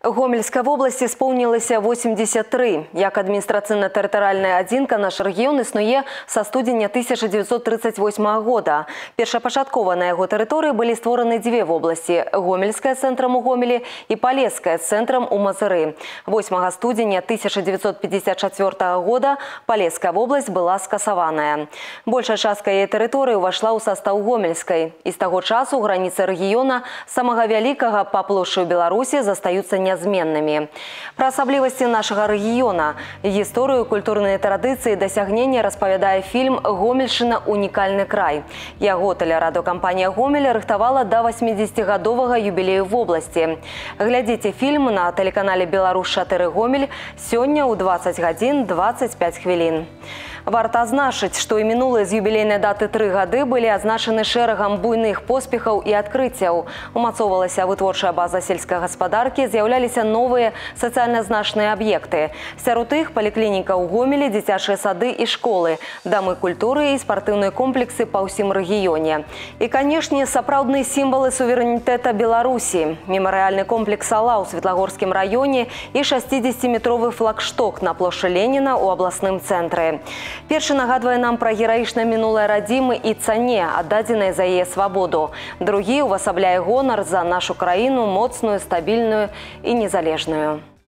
Гомельской области исполнилось 83. Як административно-территориальная адзінка наш регион існуе со студеня 1938 года. Першапачаткова на его территории были створаны две области – Гомельская центром у Гомелі и Полесская центром у Мазыры. 8 студеня 1954 года Полесская область была скасаваная. Большая частка ее территории вошла у состав Гомельской. И с того часу границы региона самого великого по площади Беларуси застаются неизменными. Про особливости нашего региона, историю, культурные традиции и досягнения распавядае фильм «Гомельщина. Уникальный край». Яго телерадиокомпания «Гомель» рыхтовала до 80-годового юбилею в области. Глядите фильм на телеканале «Беларусь-4 Гомель» сегодня у 20 годин 25 хвилин. Варта азначыць, што і мінулыя з юбілейнай даты 3 гады былі азначаны шэрагам буйных поспехаў і адкрыццяў. Умацоўвалася вытворчая база сельскай гаспадаркі, з'яўляліся новыя сацыяльна значныя аб'екты. Сярод іх паліклініка ў Гомелі, дзіцячыя сады і школы, дамы культуры і спартыўныя комплексы па ўсім рэгіёне. І, канешне, сапраўдныя сімвалы суверэнітэта Беларусі. Мемарыяльны комплекс «Ала» ў Светлагорскім раёне і 60-метровы флагшток на плошчы Леніна ў абласным цэнтры. Першы нагадвае нам пра гераічнае мінулае радзімы і цане, аддадзенай за яе свабоду. Другі увасабляе гонар за нашу краіну моцную, стабільную і незалежную.